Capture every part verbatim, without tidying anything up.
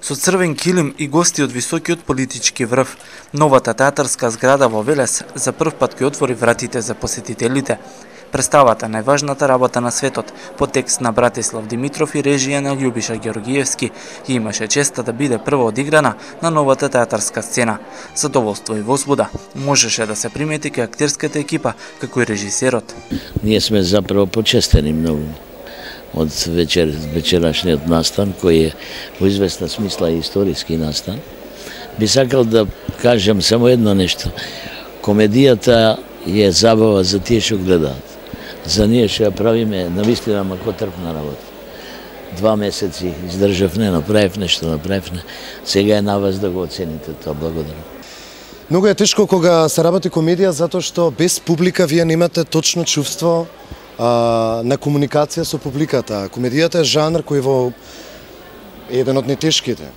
Со црвен килим и гости од високиот политички врв, новата театарска зграда во Велес за прв пат ќе отвори вратите за посетителите. Представата најважната работа на светот по текст на Братислав Димитров и режија на Љубиша Георгиевски и имаше честа да биде прво одиграна на новата театарска сцена. Задоволство и возбуда можеше да се примети кај актерската екипа, како и режисерот. Ние сме заправо почестени многу од вечер, вечерашниот настан, кој е во известна смисла историски настан. Би сакал да кажам само едно нешто. Комедијата е забава за тие што гледаат. За ние што ја правиме навистина макотрпна работа. Два месеци издржав, не направив нешто, направив не. Сега е на вас да го оцените тоа. Благодарам. Многу е тешко кога се работи комедија, затоа што без публика вие немате точно чувство а, на комуникација со публиката. Комедијата е жанр кој во еден од најтешките.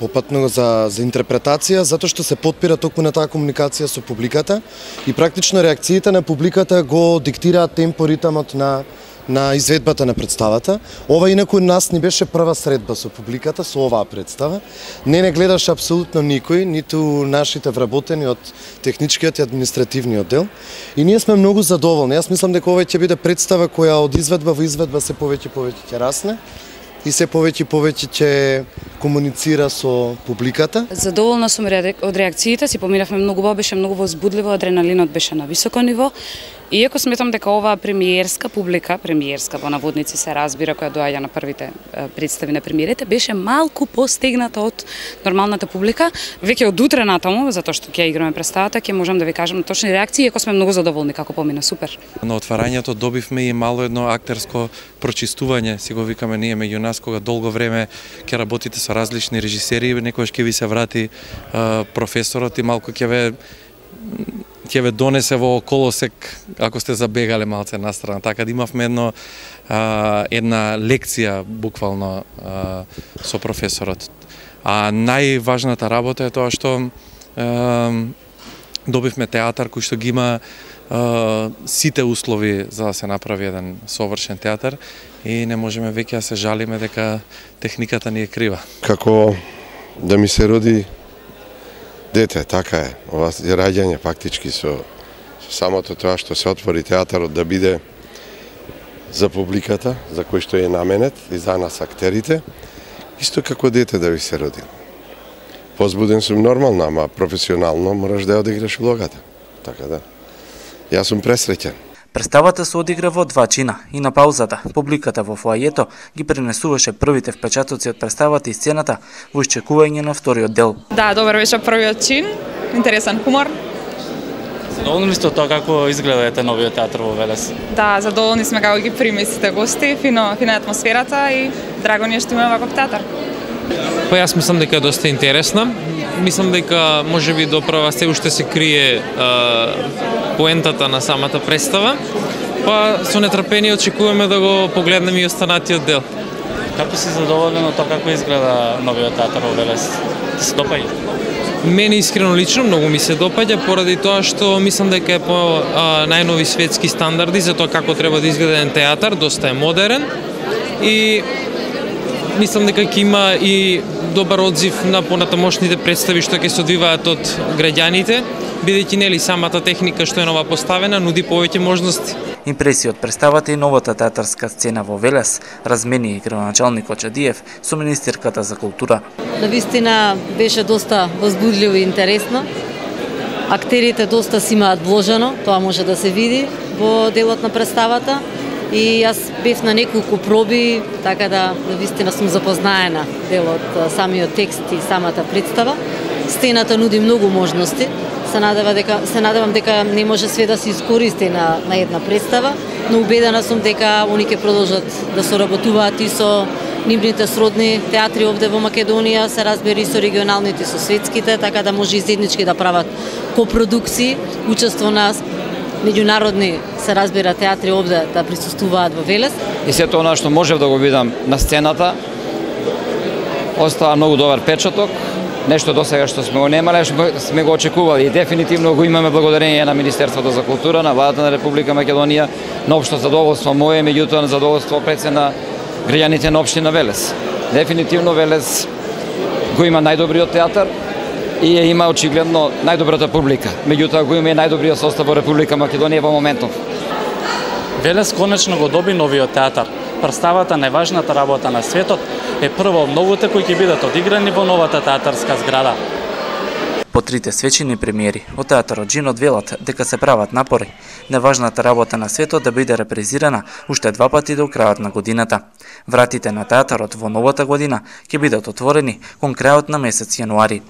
Попатно за, за интерпретација, затоа што се потпира токму на таа комуникација со публиката и практично реакциите на публиката го диктираат темпо, ритамот на, на изведбата на представата. Ова инаку нас не беше прва средба со публиката, со оваа представа. Не не гледаше апсолутно никој, ниту нашите вработени од техничкиот и административниот дел. И ние сме многу задоволни. Јас мислам дека ова ќе биде представа која од изведба во изведба се повеќе повеќе ќе расне и се повеќе повеќе ќе комуницира со публиката. Задоволна сум од реакциите, си поминавме многу убаво, беше многу возбудливо, адреналинот беше на високо ниво. Иако сметам дека оваа премиерска публика, премиерска во наводници се разбира, која доаѓа на првите представи на премиерите, беше малку постегната од нормалната публика. Веќе од утре натаму, затоа што ќе играме представата, ќе можам да ви кажам точни реакции, иако сме многу задоволни како помина, супер. На отварањето добивме и мало едно актерско прочистување, си го викаме ние меѓу нас, кога долго време ќе работите со различни режисери, некојаш ќе ви се врати а, професорот и малку ќе ве ќе ве донесе во колосек ако сте забегале малце настрана. Така да имавме едно а, една лекција буквално а, со професорот. А најважната работа е тоа што а, добивме театар кој што ги има а, сите услови за да се направи еден совршен театар и не можеме веќе да се жалиме дека техниката ни е крива. Како да ми се роди дете, така е. Ова е раѓање фактички со, со самото тоа што се отвори театарот да биде за публиката, за кој што е наменет и за нас актерите, исто како дете да ви се роди. Возбуден сум нормално, ама професионално мораш да ја одиграш улогата. Така да. Јас сум пресреќен. Представата се одигра во два чина и на паузата публиката во фоајето ги пренесуваше првите впечатоци од представата и сцената во исчекување на вториот дел. Да, добар беше првиот чин, интересен хумор. Задоволни сте од тоа како изгледа ете новиот театар во Велес? Да, задоволни сме како ги прими сите гости, фино, фина атмосферата и драго ни е што имаме ваков театар. Па јас мислам дека е доста интересна. Мислам дека можеби доправа се уште се крие а, поентата на самата представа. Па со нетрпение очекуваме да го погледнеме и останатиот дел. Како си задоволен од тоа како изгледа новиот театар во Велес? Ти се допаѓа? Мене искрено лично многу ми се допаѓа поради тоа што мислам дека е по а, најнови светски стандарди за тоа како треба да изгледа еден театар, доста е модерен и мислам дека ќе има и добар одзив на понатамошните представи што ќе се одвиваат од граѓаните, бидејќи нели самата техника што е нова поставена нуди повеќе можности. Импресија од представата и новата театарска сцена во Велес размени и градоначалникот Чадиев со министерката за култура. Навистина беше доста возбудливо и интересно. Актерите доста си имаат вложено, тоа може да се види во делот на представата. И јас бев на неколку проби, така да навистина сум запознаена дел од самиот текст и самата представа. Сцената нуди многу можности. Се надевам дека се надевам дека не може све да се искористи на на една представа, но убедена сум дека они ќе продолжат да соработуваат и со нивните сродни театри овде во Македонија, се разбери со регионалните, со светските, така да може и заеднички да прават копродукции, учество на меѓународни се разбира театри овде да присуствуваат во Велес. И сето она што можев да го видам на сцената остава многу добар печаток. Нешто до сега што сме го немале, сме го очекували и дефинитивно го имаме благодарение на Министерството за култура, на владата на Република Македонија, на општо задоволство мое, меѓутоа на задоволство пред се на граѓаните на општина Велес. Дефинитивно Велес го има најдобриот театар и ја има очигледно најдобрата публика. Меѓутоа го има и најдобриот состав во Република Македонија во моментов. Велес конечно го доби новиот театар. Представата најважната работа на светот е прво обновите кои ќе бидат одиграни во новата театарска зграда. По трите свечени премиери од театарот Джинот велат дека се прават напори најважната работа на светот да биде репрезирана уште два пати до крајот на годината. Вратите на театарот во новата година ќе бидат отворени кон крајот на месец јануари.